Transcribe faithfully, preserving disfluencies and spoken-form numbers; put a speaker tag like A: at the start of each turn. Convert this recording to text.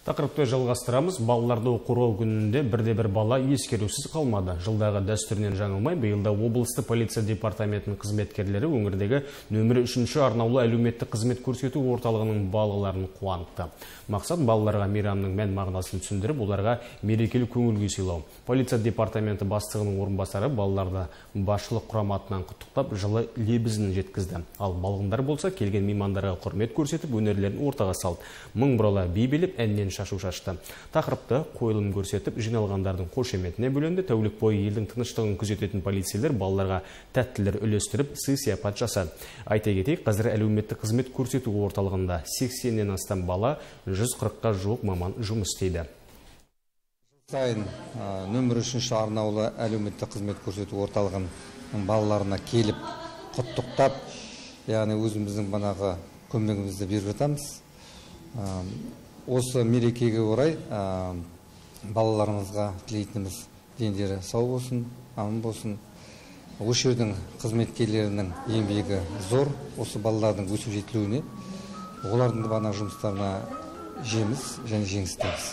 A: Тақырыпты жалғастырамыз. Балаларды қорғау күнінде бірде-бір бала ескерусіз қалмады. Жылдағы дәстүрінен жаңылмай, биылда облысты полиция департаментінің қызметкерлері өңірдегі нөмірі үшінші арнаулы әлеуметтік қызмет көрсету орталығының балаларын қуантты. Мақсат балаларға мейрамның мән мағынасын түсіндіріп, оларға мерекелік көңіл-күй сыйлау. Полиция департаменті бастығының орынбасары балаларды басшылық құраматынан құттықтап, жылы лебізін жеткізді. Ал балғындар болса, келген меймандарға құрмет көрсетіп, өнерлерін ортаға салды. Мың бұрала би билеп, әннен шашу шашты. Тақырыпты қойылым көрсетіп, жиналғандардың қошеметіне бөленді. Тәулік бойы елдің тыныштығын күзететін полицейлер балаларға тәттілер үлестіріп, сый-сияпат жасады. Айта кетейік, қазір әлеуметтік қызмет көрсету орталығында сексеннен астам бала, жүз қырыққа жуық маман жұмыс істейді.
B: Сайын нөмір үшінші арнаулы әлеуметтік қызмет көрсету орталығының балаларына келіп құттықтап, яғни өзіміздің банағы көмегімізді беріп жатамыз. Осы мерекеге орай балаларымызға тілейтініміз дендері сау болсын, аман болсын. Осы жердің қызметкерлерінің еңбегі зор, осы балалардың өсіп жетілуіне, олардың бана жұмыстарына жеміс және жеңіс тілейміз.